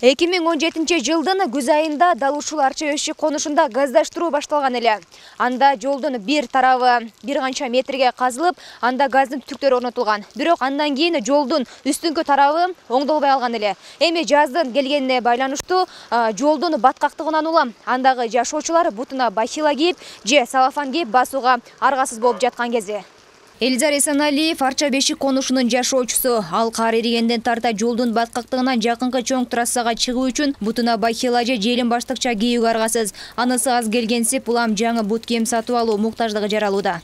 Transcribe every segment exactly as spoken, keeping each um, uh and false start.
эки миң он жетинчи жылдын күз айында Далушул Арча Өшү конушунда газдаштыруу башталган эле. Анда жолдун бир тарабы бир канча метрге казылып, анда газдын түтүктөрү орнотулган. Бирок андан кийин жолдун үстүнкү тарабы оңдолбой алган эле. Эми жаздын келгенине байланыштуу жолдун баткактыгынан улам андагы жашоочулар бутуна бахила кийип же салафан кийип басууга аргасыз болуп жаткан кези. Элизар Эсеналиев Арча Бешик конушунун жашоочусу. Ал кар эригенден тарта жолдун баткактыгынан жакынкы чоң трассага чыгуу үчүн бутуна бахила же желим баштыкча кийүүгө аргасыз. Анысы аз келгенсип улам жаңы бут кийим сатып алуу муктаждыгы жаралууда.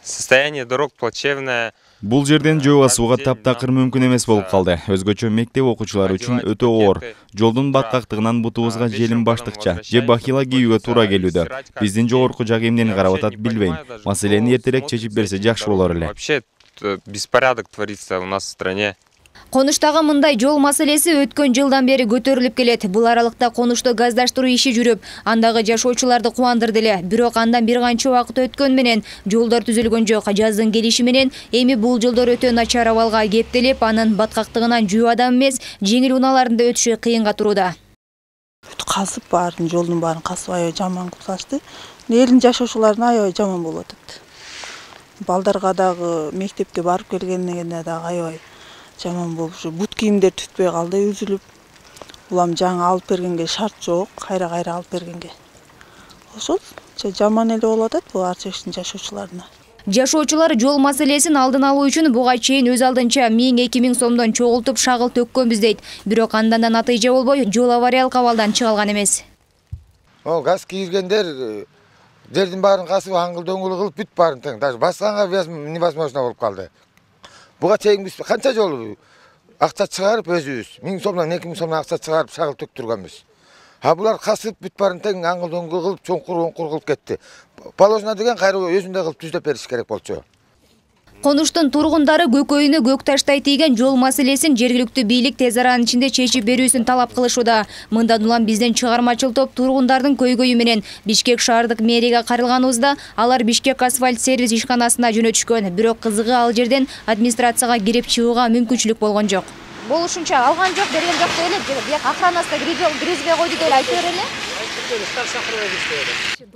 Состояние дорог плачевное. Бул жерден жөө басууга таптакыр мүмкүн эмес болуп калды. Өзгөчө мектеп окуучулары үчүн өтө оор. Жолдун баткактыгынан бутубузга желим баштыкча же бахила кийүүгө туура келүүдө. Биздин жогорку жак эмнени карап атат билбейм. Маселени эртерээк чечип берсе жакшы болор эле. Вообще беспорядок творится у нас в стране. Конуштагы мындай жол маселеси өткөн жылдан бери көтөрүлүп келет. Бул аралыкта конушту газдаштыруу иши жүрүп, андагы жашоочуларды кубандырды эле. Бирок андан бир канча убакыт өткөн менен жолдор түзүлгөн жок. Жаздын келиши менен эми бул жолдор өтө начар абалга кептелип, анын баткактыгынан жөө адам эмес, жеңил унааларында өтүшү кыйынга турууда. Казып баарын, жолдун баарын касып аябай жаман кылып ташты. Элдин жашоочуларына аябай жаман болуп атат. Балдарга дагы мектепке барып келгенине дагы аябай жаман болуп, бут кийимдер түтпөй калды, үзүлүп. Улам жаңы алып бергенге шарт жок, кайра-кайра алып бергенге. Ошол жаман эле болуп атат бул Арча Бешиктин жашоочуларына. Жашоочулар жол маселесин алдын алуу үчүн буга чейин өз алдынча миң эки миң сомдон чогултуп шагыл төккөнбүз дейт. Бирок андан да натыйжа болбой, жол авариялык абалдан чыга алган эмес. О, газ кийгендер жердин баарын касып аңгыл-дөңгүл кылып бүт баарын тең. Даже басканга невозможно болуп калды. Буга чейин биз канча жолу акча чыгарып өзүбүз миң сомдон эки миң сомдон акча чыгарып шагыл төктүргөнбүз. А булар касып бүт баарын тең аңгыл-дөңгүл кылып чоңкур оңкур кылып кетти. Положено деген кайра өзүндөй кылып түздөп бериш керек болчу. Конуштун тургундары көкөйүнө көк таштай тийген жол маселесин жергиликтүү бийлик тез аранын ичинде чечип берүүсүн талап кылышууда. Мындан улам биздин чыгармачыл топ тургундардын көйгөйү менен Бишкек шаардык мэрияга кайрылганыбызда алар Бишкек асфальт сервис ишканасына жөнөтүшкөн. Бирок кызыгы ал жерден администрацияга кирип чыгууга мүмкүнчүлүк болгон жок. Болушунча алган жок, берген жок деп эле, бияк охранасы киргизбей койду деп айтып берели.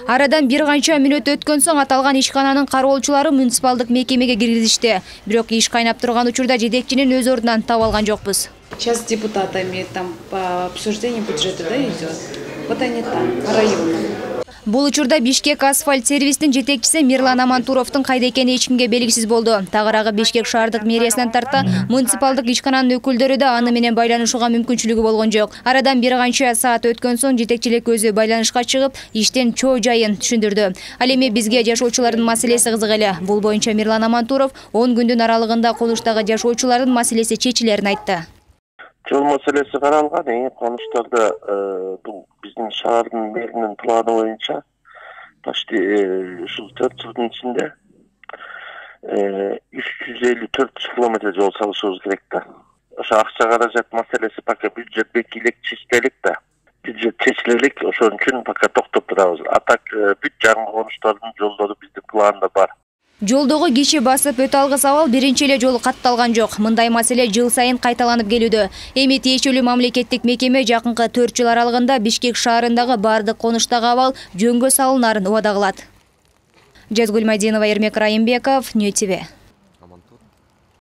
Арадан бир канча мүнөт өткөн соң аталган ишкананын кароолчулары муниципалдык мекемеге киргизишти. Бирок иш кайнап турган учурда жетекчинин өз ордунан таба алган жокпуз. Сейчас с депутатами там по обсуждению бюджета, да, идет. Вот они там, по району. Бул учурда Бишкек асфальт сервистин жетекчиси Мирлан Амантуровдун кайда экени эч кимге белгисиз болду. Тагыраагы Бишкек шаардык мэриясынан тарта муниципалдык ишкананын өкүлдөрү да аны менен байланышууга мүмкүнчүлүгү болгон жок. Арадан бир канча саат өткөн соң жетекчилик өзү байланышка чыгып, иштен чоо жайын түшүндүрдү. Ал эми бизге жашоочулардын маселеси кызык эле. Бул боюнча Мирлан Амантуров он күндүн аралыгында конуштагы жашоочулардын маселеси чечилерин айтты. Жол маселеси каралган, эң конуштарда бул биздин шаардын мэринин планы боюнча почти ушул төрт жылдын ичинде үч жүз элүү төрт километр жол салышыбыз керек да. Ошо акча каражат маселеси пока бюджет бекилек чечилелик да. Бюджет чечилелик, ошон үчүн пока токтоп турабыз. А так бүт жаңы конуштардын жолдору биздин планда бар. Жолдогу киши басып өтө алгыс абал биринчи эле жолу катталган жок. Мындай маселе жыл сайын кайталанып келүүдө. Эми тиешелүү мамлекеттик мекеме жакынкы төрт жыл аралыгында Бишкек шаарындагы бардык конуштагы абал жөнгө салынарын убада кылат. Жазгүл Майдинова, Эрмек Райымбеков, Нью ТВ.